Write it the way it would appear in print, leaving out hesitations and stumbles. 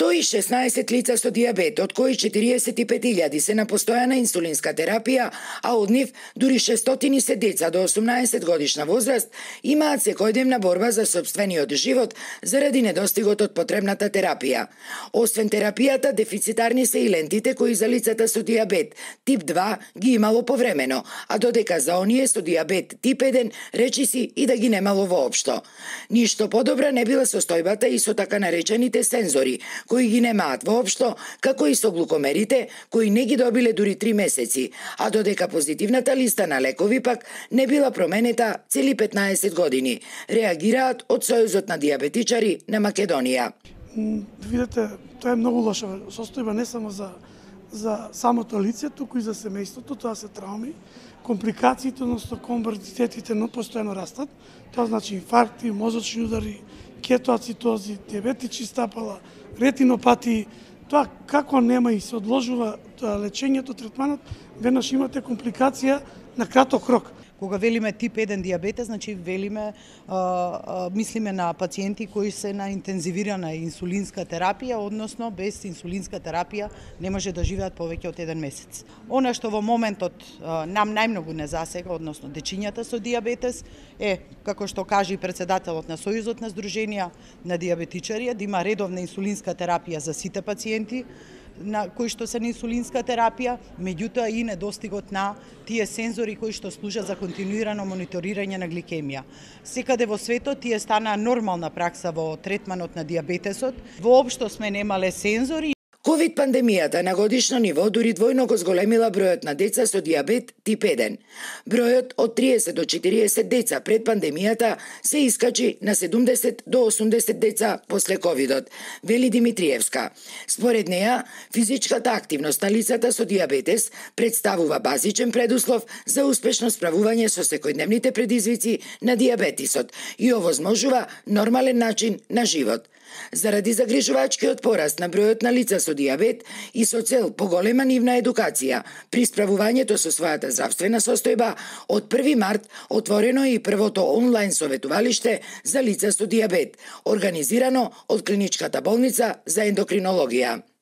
116 лица со дијабет, од кои 45.000 се на постојана инсулинска терапија, а од нив дури 600 се деца до 18 годишна возраст, имаат секојдневна борба за сопствениот живот заради недостигот од потребната терапија. Освен терапијата, дефицитарни се и лентите кои за лицата со дијабет тип 2 ги имало повремено, а додека за оние со дијабет тип 1 речиси и да ги немало воопшто. Ништо подобра не била состојбата и со така наречените сензори, кои ги немаат воопшто, како и со глукомерите, кои не ги добиле дури 3 месеци, а додека позитивната листа на лекови пак не била променета цели 15 години, реагираат од Сојузот на дијабетичари на Македонија. Видете, тоа е многу лоша состојба не само за самото лице, туку и за семејството, тоа се трауми, компликациите, односно коморбидитетите постојано растат, тоа значи инфаркти, мозочни удари, кетоацитози, дијабетични стапала, ретинопатии. Тоа како нема и се одложува лечењето, третманот, веднаш имате компликација на краток рок. Кога велиме тип 1 дијабетес, значи велиме, мислиме на пациенти кои се на интензивирана инсулинска терапија, односно без инсулинска терапија не може да живеат повеќе од 1 месец. Она што во моментот нам најмногу не засега, односно дечињата со дијабетес, е, како што кажа и председателот на Сојузот на Сдруженија на дијабетичари, да има редовна инсулинска терапија за сите пациенти на кои што се на инсулинска терапија, меѓутоа и недостигот на тие сензори кои што служат за континуирано мониторирање на гликемија. Секаде во светот тие стана нормална пракса во третманот на дијабетесот. Воопшто сме немале сензори. Ковид пандемијата на годишно ниво дури двојно го зголемила бројот на деца со дијабет тип 1. Бројот од 30 до 40 деца пред пандемијата се искачи на 70 до 80 деца после ковидот, вели Димитриевска. Според неа, физичката активност на лицата со дијабетес представува базичен предуслов за успешно справување со секојдневните предизвици на дијабетисот и овозможува нормален начин на живот. Заради загрижувачкиот пораст на бројот на лица со дијабет и со цел поголема нивна едукација при справувањето со својата здравствена состојба, од 1 март отворено е и првото онлайн советувалиште за лица со дијабет, организирано од Клиничката болница за ендокринологија.